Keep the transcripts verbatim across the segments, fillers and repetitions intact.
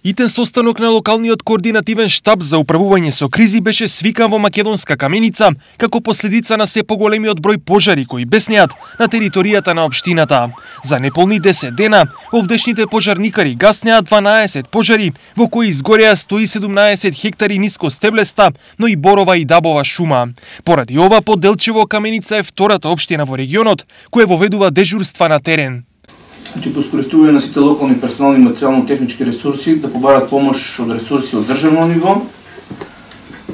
Итен состанок на локалниот координативен штаб за управување со кризи беше свикан во Македонска Каменица како последица на се поголемиот број пожари кои беснеат на територијата на општината. За неполни десет дена, овдешните пожарникари гаснеа дванаесет пожари во кои изгореа сто и седумнаесет хектари ниско стеблеста, но и борова и дабова шума. Поради ова, по Делчево Каменица е втората општина во регионот која воведува дежурства на терен. Значи, по искористување на сите локални персонални и материјално-технички ресурси да побарат помош од ресурси од државно ниво.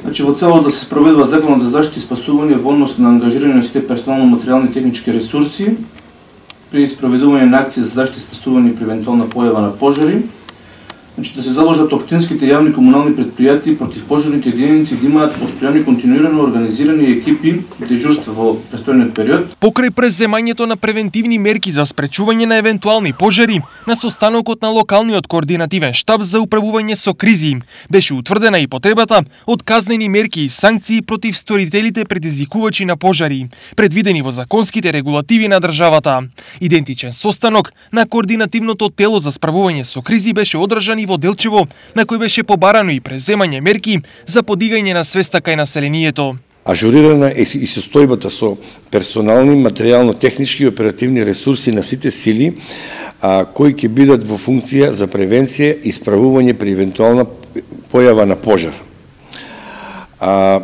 Значи, во цело да се спроведува законот за заштита и спасување во однос на ангажирање на сите персонално-материјални и технички ресурси при спроведување на акции за заштита и спасување при евентуална појава на пожари. Значи, да се заложат општинските јавни комунални предпријатии против пожарните единици да имаат постојани континуирано организирани екипи и дежурства во престојниот период. Покрај преземањето на превентивни мерки за спречување на евентуални пожари, на состанокот на локалниот координативен штаб за управување со кризи беше утврдена и потребата од казнени мерки и санкции против сторителите предизвикувачи на пожари, предвидени во законските регулативи на државата. Идентичен состанок на координативното тело за справување со кризи беше одржан во Делчево, на кој беше побарано и преземање мерки за подигање на свеста кај населението. Ажурирана е и состојбата со персонални, материјално-технички и оперативни ресурси на сите сили, а, кои ќе бидат во функција за превенција и справување при евентуална појава на пожар. А,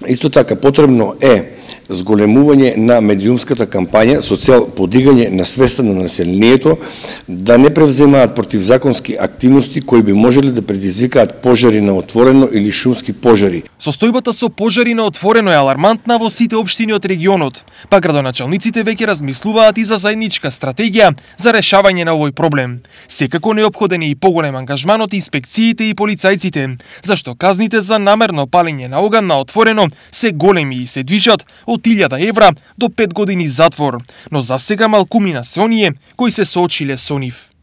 исто така потребно е зголемување на медиумската кампања со цел подигање на свеста на населението да не превземаат противзаконски активности кои би можеле да предизвикаат пожари на отворено или шумски пожари. Состојбата со пожари на отворено е алармантна во сите општини од регионот, па градоначалниците веќе размислуваат и за заедничка стратегија за решавање на овој проблем. Секако неопходен е и поголем ангажман од инспекциите и полицајците, зашто казните за намерно палење на оган на отворено се големи и се движат од илјада евра до пет години затвор, но засега малкумина се оние кои се соочиле со нив.